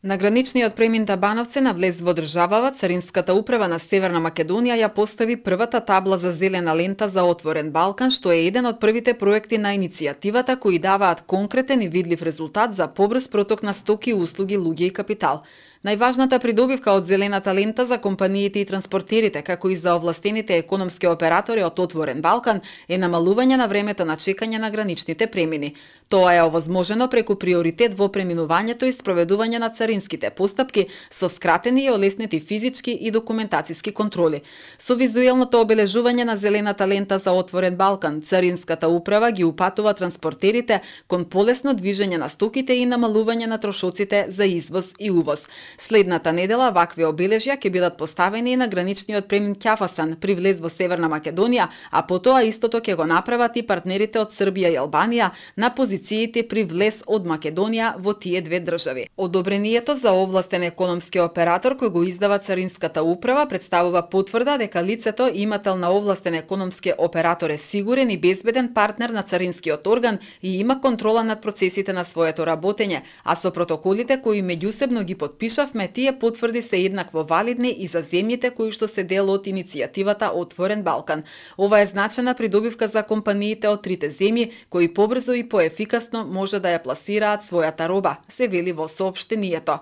На граничниот премин Табановци на влез во државава, Царинската управа на Северна Македонија ја постави првата табла за зелена лента за отворен Балкан, што е еден од првите проекти на иницијативата кои даваат конкретен и видлив резултат за побрз проток на стоки, услуги, луѓе и капитал. Најважната придобивка од зелената лента за компаниите и транспортерите, како и за овластените економски оператори од Отворен Балкан, е намалување на времето на чекање на граничните премини. Тоа е овозможено преку приоритет во преминувањето и спроведување на царинските постапки со скратени и олеснети физички и документациски контроли. Со визуелното обележување на зелената лента за Отворен Балкан, Царинската управа ги упатува транспортерите кон полесно движење на стоките и намалување на трошоците за извоз и увоз. Следната недела вакви обележја ќе бидат поставени и на граничниот премин Ќафасан при влез во Северна Македонија, а потоа истото ќе го направат и партнерите од Србија и Албанија на позициите при влез од Македонија во тие две држави. Одобрението за овластен економски оператор кој го издава Царинската управа представува потврда дека лицето имател на овластен економски оператор е сигурен и безбеден партнер на царинскиот орган и има контрола над процесите на своето работење, а со протоколите кои меѓусебно ги подпишавме, тие потврди се еднакво валидни и за земјите кои што се дел од иницијативата Отворен Балкан. Ова е значена придобивка за компаниите од трите земји кои побрзо и поефикасно може да ја пласираат својата роба, се вели во соопштението.